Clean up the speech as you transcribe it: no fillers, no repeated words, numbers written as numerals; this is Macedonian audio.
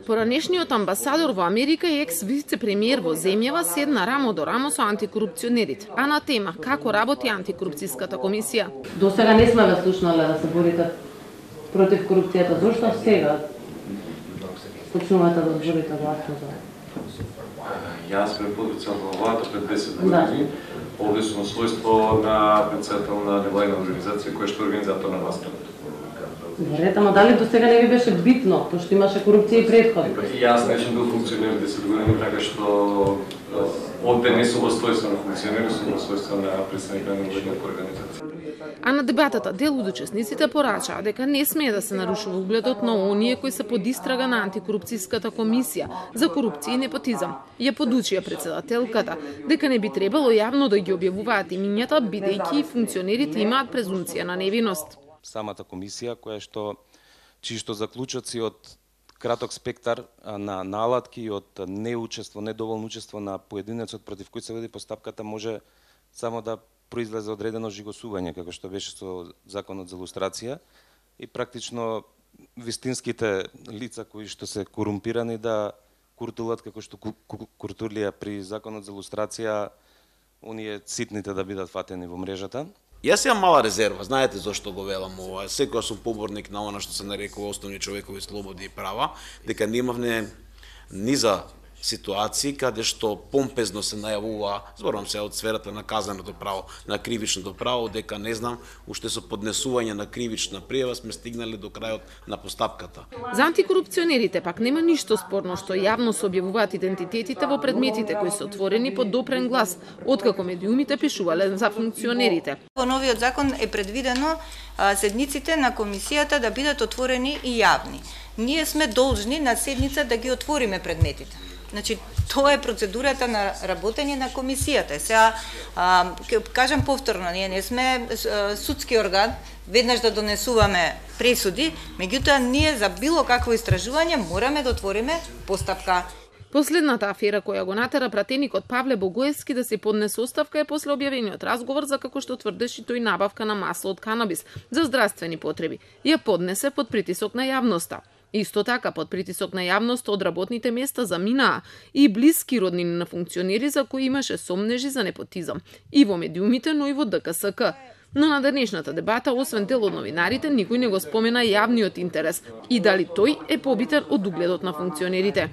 Поранешниот амбасадор во Америка и екс-вице-премиер во земјава седна рамо до рамо со антикорупционерите, а на тема како работи антикорупцијската комисија. До сега не сме ве слушнале да се борите против корупцијата. Зошто сега почнувате да борите гласно за? Јас бев подписал во владата пред 10 години. Овде сум својство на председател на невладина организација која што е организатор на настапот. Добре, ама дали до сега не ви беше битно, пошто имаше корупција и претходно? Јас не сум бил функционер 10 години, така што овде не сум во својство на функционер, сум во својство на представник на невладина организација. А на дебатата дел од учесниците порачаа дека не смее да се нарушува угледот на оние кои се под истрага на антикорупцијската комисија за корупција и непотизам. Ја подучија председателката дека не би требало јавно да ги објавуваат имињата, бидејќи функционерите имаат презумција на невиност. Самата комисија чисто заклучоци од краток спектар на наладки и од недоволно учество на поединецот против кој се води постапката може само да произлезе одредено жигосување, како што беше со законот за лустрација и практично вистинските лица кои што се корумпирани да куртулат како што куртулија при законот за лустрација, оние ситните да бидат фатени во мрежата. Јас имам мала резерва, знаете зошто го велам ова. Секоја сум поборник на она што се нарекува основни човекови слободи и права, дека немавме ни за ситуации каде што помпезно се најавува, зборувам се од сферата на казненото право, на кривичното право, дека не знам, уште со поднесување на кривична пријава сме стигнали до крајот на постапката. За антикорупционерите пак нема ништо спорно што јавно се објавуваат идентитетите во предметите кои се отворени под допрен глас, откако медиумите пишувале за функционерите. Во новиот закон е предвидено седниците на комисијата да бидат отворени и јавни. Ние сме должни на седница да ги отвориме предметите. Значи, тоа е процедурата на работење на комисијата. Сега, кажам повторно, ние не сме судски орган, веднаш да донесуваме пресуди, меѓутоа ние за било какво истражување мораме да отвориме постапка. Последната афера која го натера пратеникот Павле Богоевски да се поднесе оставка е после објавениот разговор за како што тврдеше тој набавка на масло од канабис за здравствени потреби. Ја поднесе под притисок на јавноста. Исто така, под притисок на јавност од работните места заминаа и блиски роднини на функционери за кои имаше сомнежи за непотизам и во медиумите, но и во ДКСК. Но на денешната дебата, освен дел од новинарите, никој не го спомена јавниот интерес и дали тој е побитен од угледот на функционерите.